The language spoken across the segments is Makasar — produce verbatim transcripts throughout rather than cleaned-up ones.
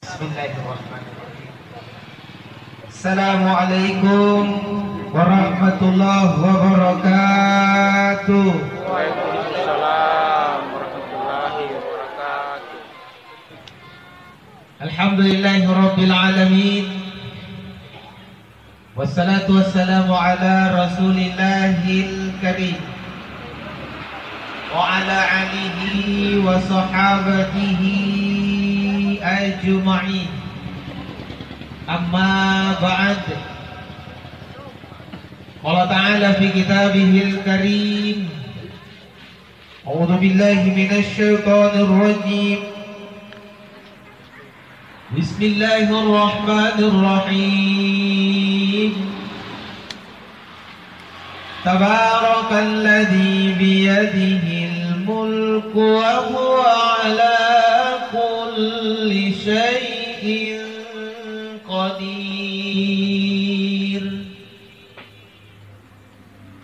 Bismillahirrahmanirrahim. Assalamualaikum warahmatullahi wabarakatuh. Waalaikumsalam warahmatullahi wabarakatuh. Alhamdulillahirabbil alamin. Wassalatu wassalamu ala Rasulillahil Karim wa ala alihi wa sahabatihi ajma'in. Amma ba'd. Qala ta'ala fi kitabihil karim, a'udzu billahi minasy syaithanir rajim. Bismillahirrahmanirrahim. Tabarakalladzi biyadihil mulku wa huwa ala kulli syai'in qadir.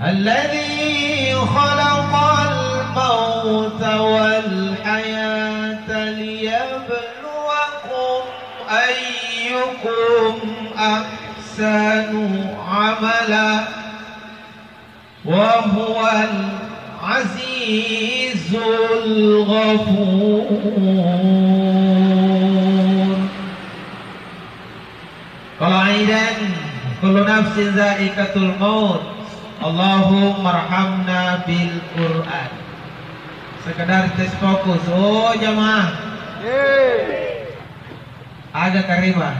الذي خلق الموت والحياة ليبلوكم أيكم أحسن عملا وهو العزيز الغفور. Qala aidan, kullu nafsin dzaiqatul maut. Allahummarhamna bil Qur'an. Sekedar tes fokus, oh jamaah. Aga kareba?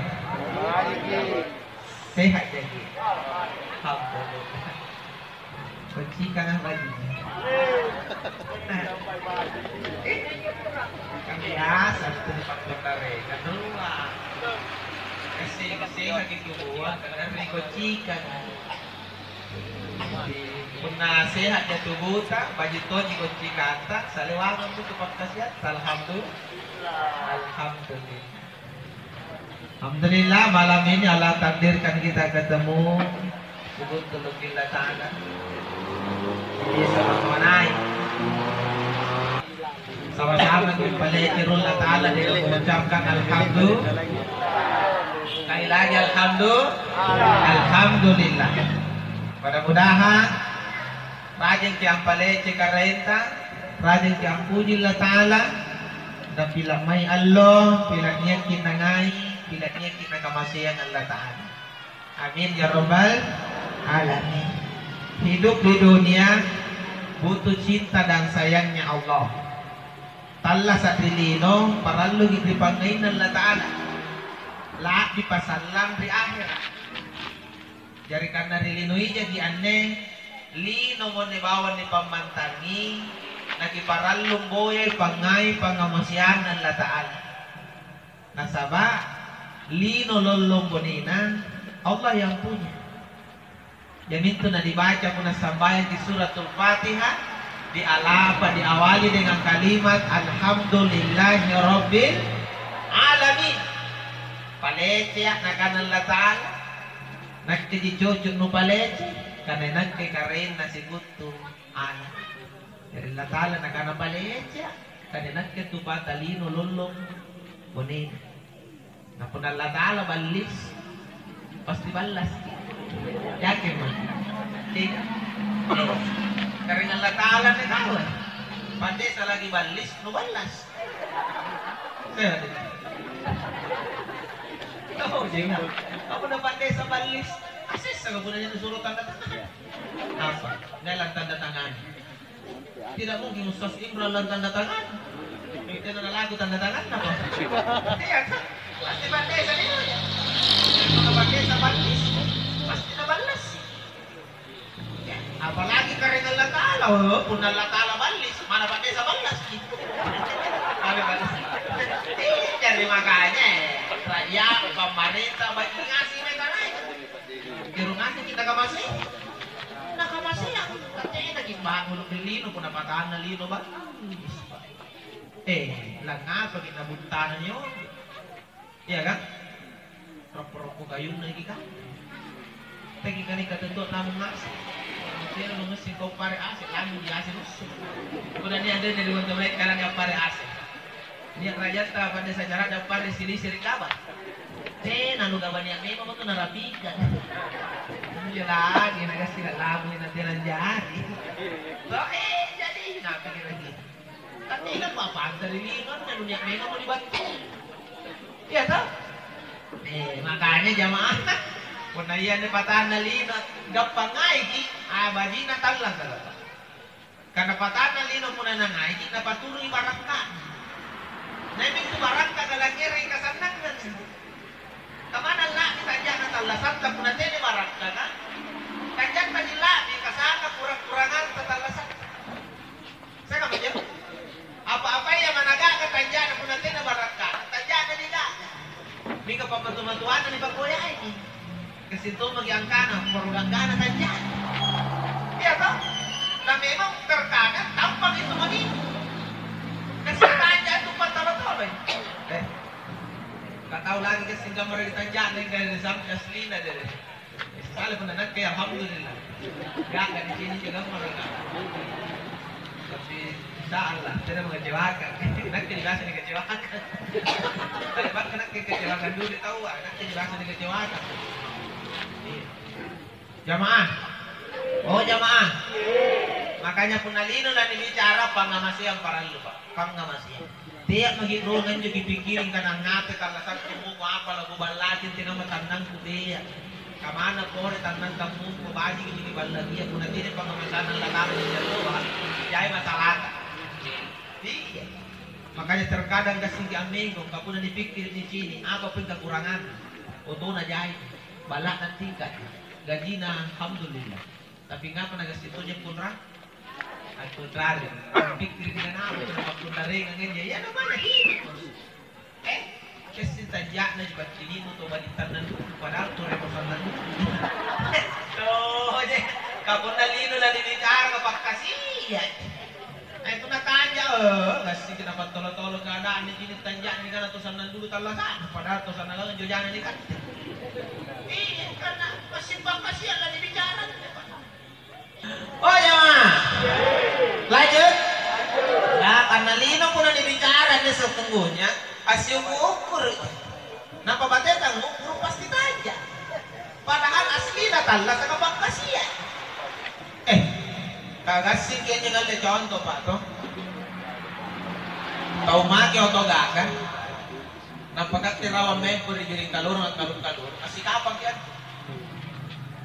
Sehat jaki? Alhamdulillah. Kucikanga bajunya. Kan biasa tu dipakkotareka doang. Kasi kasi lagi keluar karena kucikanga. Punna sehatja tubuta, baju tonji kucikanta, salewangang tu pakkasiatta. Alhamdulillah. Alhamdulillah. Alhamdulillah, malam ini Allah takdirkan kita ketemu di Buntu Lutfi Allah Ta'ala. Jadi, sama-sama naik. Sama-sama kita palece ri Allah Ta'ala dengan mengucapkan alhamdulillah. Sekali lagi alhamdulillah. Alhamdulillah. Mudah-mudahan rajinki ampalece Karaenta, rajinki ampuji Allah Ta'ala, napila' mai allo, pila' niakki nangai, pila' niakki nakamaseang Allah Ta'ala. Amin ya rabbal alamin. Hidup di dunia butuh cinta dan sayangnya Allah. Tallasa' ri lino, paralluki ri pangngainna Allah Ta'ala. La'bi pasallang ri ahera'. Jari kanna ri lino ijaki anne, linomo anne bawang nipammantangi, nakiparallung boyai pangngai pangngamaseanna Allah Ta'ala. Nasaba' lino lollong bonena Allah yang punya. Iamintu nanibaca punna sambayangki Suratul Fatihah, dialapa, diawali dengan kalimat, "Alhamdulillahirabbil alamin." Palecea', nakana Allah Ta'ala, nakkeji cocok nupalece, karena nakke karaenna sikutu ana'. Jari Allah Ta'ala nakana, "Palecea', karena nakke tupata lino lollong bonena." Na punna Allata'ala ballis, pasti ballasi. Yakin ma? Tidak. Eh, karaeng Allata'ala anne tau, eh. Pandesa lagi ballis, nuballas. Sehat itu. Oh, jenggo. Apa na pandesa ballis? Asessa ka punna nusuro tanda tangan. Apa? Nalang tanda tangan. Tidak mungkin Ustaz Imran lang tanda tangan. Tena nalaku tanda tangan apa? Iya kan? Pasti pandesa dia. Kalau pandesa ballis, pasti naballasi. Ya, apalagi karaeng Allata'ala, oh, punna Allata'ala ballis, mana pandesa ballasi? Ada ballasi. Iya, jadi makanya, rakyat, pemerintah, bagi ngasih mereka naik. Tiru ngasih kita ke masih. Nakamaseang, katenaki bangung ri lino, punna patanna lino ballis. Eh, langngapaki nabuttana nyojo. Iya kan? Roppo-roppo kayunna iki kan? Teki kani katutuo naung ngaseng. Tena nungasseng kau pare ase, lamu di ase nusse. Punna nia' anrena ri wantu mae karanga pare ase. Nia' rajanta pada sacara dampare silisi ri kaba. Tena nu gaba nia' memang tu narapika. Injo lagi nagassi lalabui na tena jari. To, eh, jadi napi kira-kira. Tapi inappa pantari lino, na nu nia' memang mau dibantu. Iya toh? Eh, makanya jamaah, punna iya ni patanna lino, gappang ngaiki, ah, bajina tallang kagapa. Karena patanna lino punna nangaiki, napaturui barakka'na. Naimi tu barakka nalangngerangi kasannangang. Kamana la'bi tanja'na tallasatta punna tena barakkaka? Tanjatta la'bi kasanga kurang-kuranganta tallasatta. Sangkamma anjo? Apa-apaya managa'ka tanja'na punna tena barakkana, tanja'na nigaga. Mingka pammatu-matuanna nipakoyaiki. Gassing tommaki angkana, poro ganggana tanja'na. Iya toh? Na memang terkadang tampaki tu mani. Gassing tanja tu pattolo-toloi. Eh, ka tau lagi gassing gammara ri tanja'na, gassing sampai aslina deh. Sale punna nakke, alhamdulillah. Gaga di sini juga, Bang. Tapi insya Allah, tidak mengecewakan. Nakke biasa dikecewakan. Tapi bahkan nakke kecewakan dulu tahu, ah, nakke biasa dikecewakan. Iya. Jamaah. Oh, jamaah. Makanya punna lino na nibicara, pangngamaseang parallu, Pak. Pangngamaseang. Tea' maki' rurung anjo kipikkiri angkana angngapai tallasakku muko apa lakuballaji antekamma tannangku, tea'. Kamana pore tannang kammuko bajiki nikiballakia punna tena pangngamasannang latara ri alloa, jai masalata. Iya. Makanya terkadang gassingki ammengko, ka punna nipikkiri nicini', apa peng kakuranganna? Otona jai, balla'na tingka'ji, gajina alhamdulillah. Tapi ngapa nagassing tojeng konra-, akkonrari? Pikkiriki kanapa tena pakkonrarengang anjo? Iya namanya hidup, Bos. Eh, kessing tanja'na ji battinimu tau baji' tannang dudu, padahal tu remo sannang dudu. Tojeng, ka punna lino lanibicara ka pakkasiaji. Eh, punna tanja, eh, gassingki napattolo-tolo keadaanna cini' tanja'na nikana tau sannang dudu tallasa'na, padahal tau sannang lalang jojana nikatte. Iya, karena massing pakkasia lanibicara. Oh, jamaah. Lanjut. Ya, karena lino punna nibicara anne sesungguhnya, assiukur-ukuru. Nampa bateta ngukkuru pasti tanja. Padahal aslina tallasaka pakkasia. Eh, kagassingki anjo ngalle conto, Pak, to. Tau make oto gaga. Nampa katte rawa mempo ri biring kalorong akkaluru-kaluru, assikapangki antu.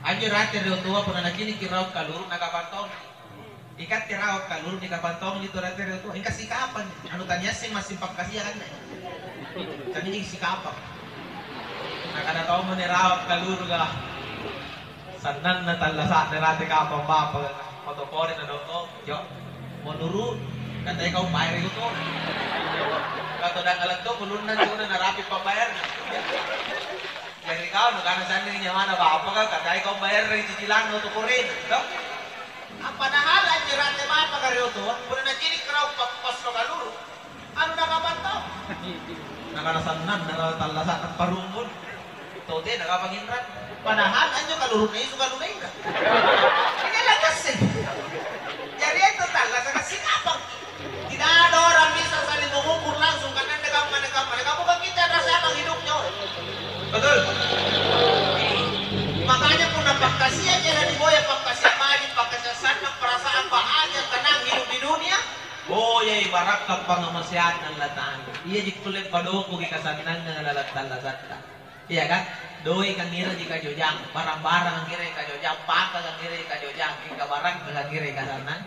Anjo rate ri otoa punna naciniki rawa kaluru, nakapang tongi. Ikatte rawa kaluru, nikapang tongi tu rate ri otoa, ingka sikapang. Anu taniasseng massing pakkasia anne. Tania sikapang. Nakana tommo ni rawa kaluru, ga. Sannanna tallasa'na rate kapang bapaka, moto pole na doko, jo. Menuru, katai kau bayar itu tuh. Kau todang alat tuh, ulunna tuh udah narapi pambayar. Jari kau nukana sanding nyawana bapaka, katai kau bayar dari cicilan untuk kurin, toh? Padahal anjirate bapaka ri otoa, punna nacini' karaung pa-, passo kaluru. Anu nakapang tau. Nakana sannanna tallasa'na parungun. Tau tena kapang inrang. Padahal anjo kalurunna Yesu kalunna inrang. Ini lakasse. Jari itu tallasaka sikapang. Tidak ada orang bisa saling mengukur langsung karena ada kamma, ada kamma, ada kamma. Bukan kita rasakan hidupnya, orang. Betul? Makanya punna pakkasia jangan diboya, pakkasia baji', pakkasia sannang, perasaan bahagia, tenang hidup di dunia. Boyai barakka' pangngamaseanna Allata'ala. Iaji kulle padongkoki kasannangang lalang tallasatta. Iya kan? Doe' kangngerangi kajojang, barang-barang kangngerangi kajojang, paka kangngerangi kajojang, mingka barakka' kangngerangi kasannang.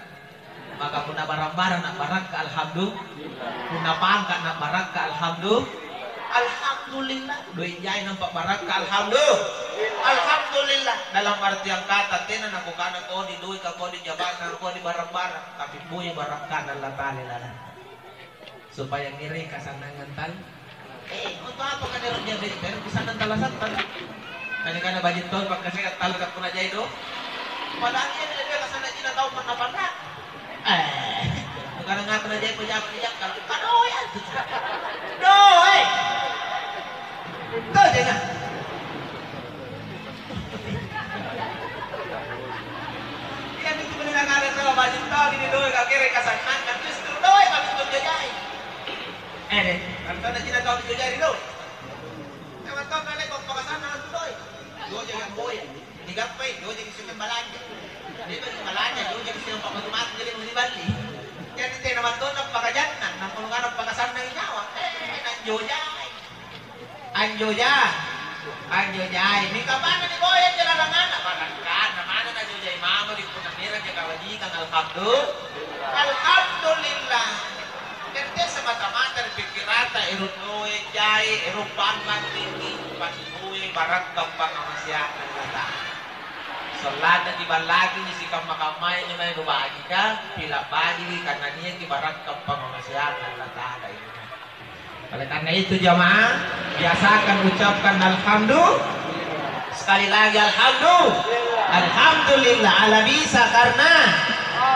Maka punna barang-barang na'barakka', alhamdulillah. Punna pangka' na'barakka', alhamdulillah. Alhamdulillah. Doe' jai nampa barakka', alhamdulillah. Alhamdulillah. Dalam artian kata, tena nakukana kodi doe' ka, kodi jabatan, kodi barang-barang. Tapi boya barakka'na Allata'ala lalang. Supaya ngiring kasannangan tal-, eh, untuk apa kau ero' jadi, ero' kasannang tallasatta? Tadi kana baji' tau pakkasia tallasa' punna jai do. Padahal ia tidak dia kasannang cina tau panna-panna. Eh, bukan ngapa na jai pejama di Jakarta. Kadoe antu. Doe. Tuh, jangan. Iya, itu benar ada sama baju tau ini doe' kakere kasannang, justru doe' kami tuh jajai. Eh, deh, Ri doe'. Memang tau naleko pakasanna antu doe'. Jojaki amboya. Digappai, jojaki siagang balanja. Le'baki balanja, jojaki siagang pammatu-matu, jadi niballi. Jari tena mantonna pakajannang, nampa nukana pakasannangi nyawa. Eh, nanjojai. Anjoja. Anjojai. Mingka manna niboya anjo lalanganna, barangkana manna najojai mamo ri punna nierang kawajikang, alhamdulillah. Alhamdulillah. Tette semata-mata ri pikkiranta, ero' doe' jai, ero' pangnganniki, pasti doe' barakkang pangngamaseanna Allata'ala. Sollanna kiballaki sikamma-kammaya injo mae nubajika, pila' bajiki, karena niaki barakkang pangngamaseanna Allata'ala injo mae. Oleh karena itu, jamaah, biasakan ucapkan alhamdulillah. Sekali lagi, alhamdulillah. Alhamdulillah, ala bisa karena,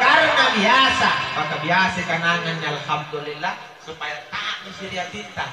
karena biasa. Maka biasa kanangannya alhamdulillah, supaya tak ri atinta.